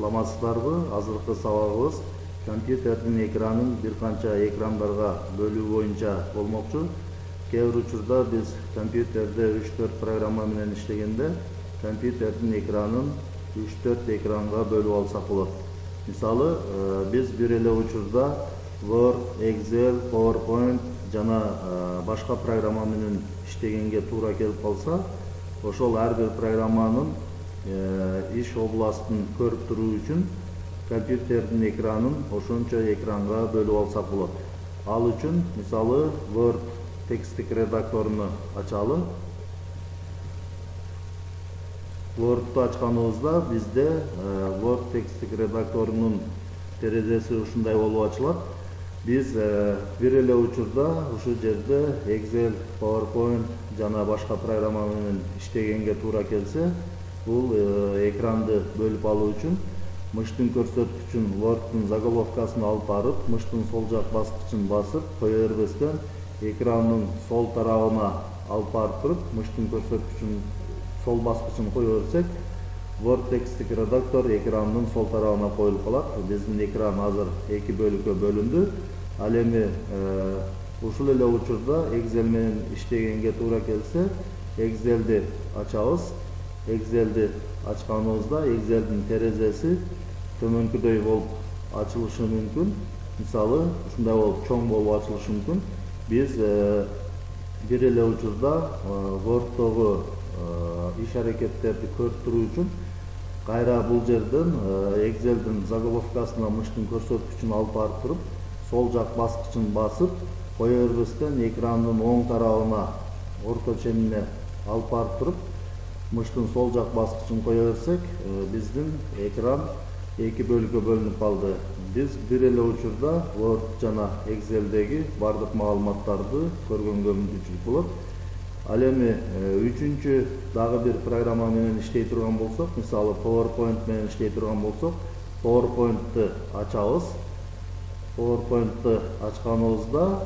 саламатсыздарбы? Азыркы сабагыбыз компьютердин экранын бир канча экрандарга бөлүү боюнча болмокчу. Кээ бир учурда биз компьютерде 3-4 программа менен иштегенде компьютердин экранын 3-4 экранга бөлүп алсак болот. Мисалы, биз бир эле учурда Word, Excel, PowerPoint жана башка программа менен иштегенге туура келип калса, ошол ар бир программанын иш областын көрүп туруу үчүн компьютердин экранын ошончо экранга бөлүп алсак болот. Ал үчүн мисалы Word текстик редакторуну ачалы. Word'ду ачканыбызда бизде Word текстик редакторунун терезеси ушундай болуп ачылат. Биз бир эле учурда ушул жерде Excel, PowerPoint жана башка программа менен иштегенге туура келсе, бул экранды бөлүп алуу үчүн мыштын көрсөткүчүн Word'дун заголовкасын алып барып, мыштын сол жак баскычын басып, кое бербестен экрандын сол тарабына алып барып туруп, мыштын көрсөткүчүн сол баскычын кое берсек, Word текстик редактор экрандын сол тарабына коюлуп калат. Биздин экран азыр 2 бөлүккө бөлүндү. Ал эми ушул эле учурда Excel менен иштегенге туура келсе, Excel'ди ачабыз. Excel'ди ачканыбызда Excel'дин терезеси төмөнкүдөй болуп ачылышы мүмкүн. Мисалы, ушундай болуп чоң болуп ачылышы мүмкүн. Биз бир эле учурда Word'догу иш аракеттерди көрүп туруу үчүн кайра бул жерден Excel'дин заголовкасына мыштын көрсөткүчүн алып барып туруп, сол жак баскычын басып, кое бербестен экрандын оң тарабына орто ченине алып барып туруп, мыштын сол жак баскычын кое берсек, биздин экран 2 бөлүккө бөлүнүп калды. Биз бир эле учурда Word жана Excel'деги бардык маалыматтарды көргөнгө мүмкүнчүлүк болот. Ал эми үчүнчү дагы бир программа менен иштей турган болсок, мисалы PowerPoint менен иштей турган болсок, PowerPoint'ты ачабыз. PowerPoint'ты ачканыбызда,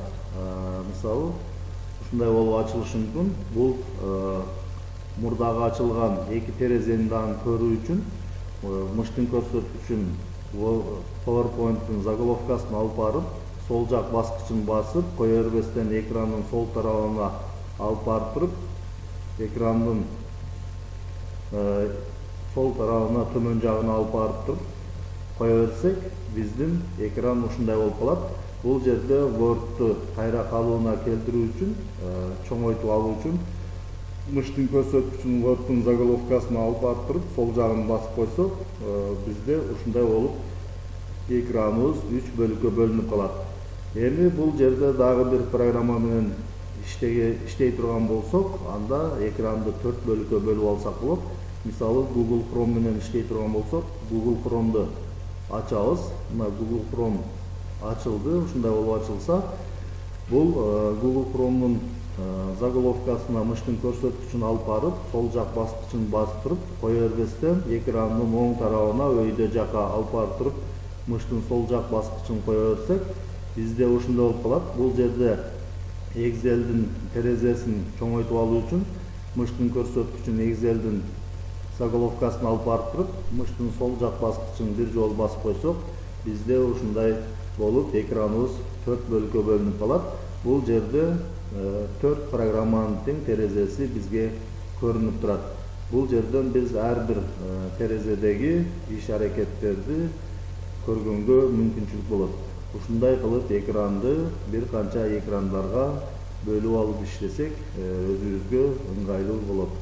мисалы, ушундай болуп ачылышы мүмкүн. Бул мурдагы ачылган 2 терезени дагы көрүү үчүн мыштын көрсөткүчүн PowerPoint'тын заголовкасын алып барып, сол жак баскычын басып, кое бербестен экрандын сол тарабына алып барып туруп, экрандын сол тарабына төмөн жагына алып барып туруп, кое берсек, биздин экран ушундай болуп калат. Бул жерде Word'ду кайра калыбына келтирүү үчүн, чоңойтуп алуу үчүн мыштын көрсөткүчүн Word'дун заголовкасына алып барып туруп, сол жагын басып койсок, бизде ушундай болуп экраныбыз 3 бөлүккө бөлүнүп калат. Эми бул жерде дагы бир программа менен иштей турган болсок, анда экранды 4 бөлүккө бөлүп алсак болот. Мисалы, Google Chrome менен иштей турган болсок, Google Chrome'ду ачабыз. Мына Google Chrome ачылды, ушундай болуп ачылса, бул Google Chrome'дун заголовкасына мыштын көрсөткүчүн алып барып, сол жак баскычын басып туруп, кое бербестен экрандын оң тарабына өйдө жака алып барып туруп, мыштын сол жак баскычын кое берсек, бизде ушундай болуп калат. Бул жерде Excel'дин терезесин чоңойтуп алуу үчүн мыштын көрсөткүчүн Excel'дин заголовкасын алып барып туруп, мыштын сол жак баскычын бир жолу басып койсок, бизде ушундай болуп экраныбыз 4 бөлүккө бөлүнүп калат. Бул жерде 4 программанын тең терезеси бизге көрүнүп турат. Бул жерден биз ар бир терезедеги иш аракеттерди көргөнгө мүмкүнчүлүк болот. Ушундай кылып экранды бир канча экрандарга бөлүп алып иштесек, өзүбүзгө ыңгайлуу болот.